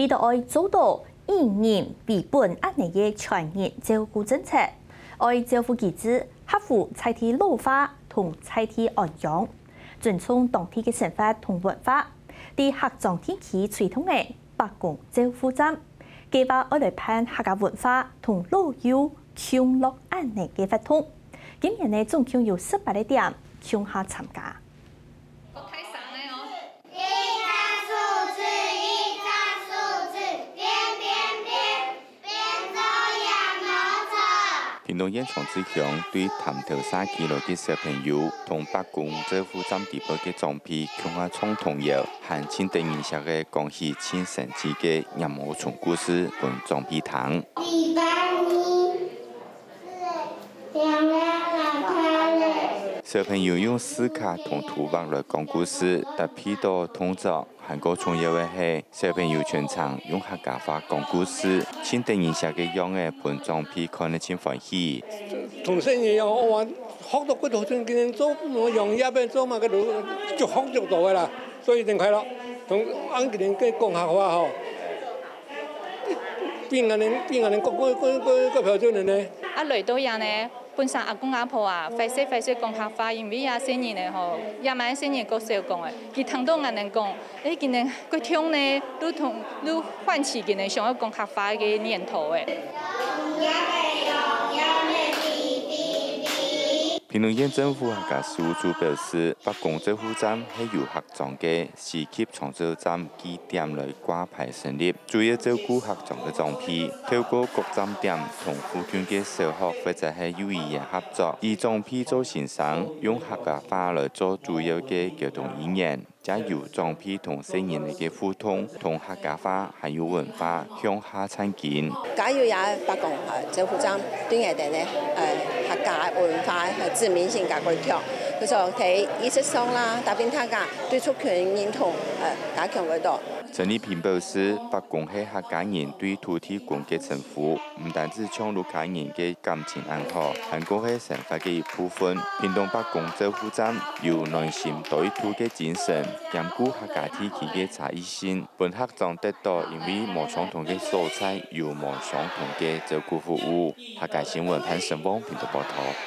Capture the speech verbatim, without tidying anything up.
佢兜愛做到以人為本恁呢个全人照顧政策，愛照顧機制合乎在地老化同在地安養，尊重當地个生活同文化。在客庄地區推動个伯公照護站，計劃愛來辦客家文化同老幼共樂恁呢个活動。今年呢，總共有十八个店共下參加。 一隻手指，一隻手指，變變變，變做羊肉串。屏東縣長治鄉對潭頭社區來个小朋友，同伯公照護站底背个長輩共下唱童謠，還盡得人惜个講起盡生趣个鼹毛蟲故事分長輩聽。禮拜二。 小朋友用字卡同圖畫來講故事，搭配到動作，還過重要个係，小朋友全程用客家話講故事，盡得人惜个樣仔，分長輩看了盡歡喜。同細人一樣，哇，學到幾多種，今天做農業个，做麼个都，就學足多个啦，所以真快樂。同，恁今天个講客話吼， 比𠊎等，比𠊎等國，國，國，國，國標準个呢。啊，來到這呢，本身阿公阿婆啊，壞勢壞勢講客話，因為啊，細人呢吼，也蠻細人較少講个。佢聽到𠊎等講，誒，今年國中呢，都同，都喚起佢等想要講客話个念頭誒。屏東縣政府客家事務處表示，伯公照護站係由客庄个 市級長照站據點來掛牌成立，主要照顧客庄个長輩，透過各站點同附近个小學或者係幼兒園合作，以長輩做先生，用客家話來做主要个溝通語言，藉由長輩同細人仔个互動，同客家話還有文化向下親近。加入這伯公，呃，照護站，對𠊎等呢，呃，客家文化和知名性加過強。就說在意識上啦，打拼大家 對族群認同，呃，加強會到。陳麗萍表示，伯公係客家人對土地公个稱呼，毋單止像屋下人个感情恁好，還過係生活个一部分。屏東伯公照護站有暖心多一途个精神，兼顧客家地區个差異性，分客庄得到因為無相同个所在，有無相同个照顧服務。客家新聞潘成旺屏東報導。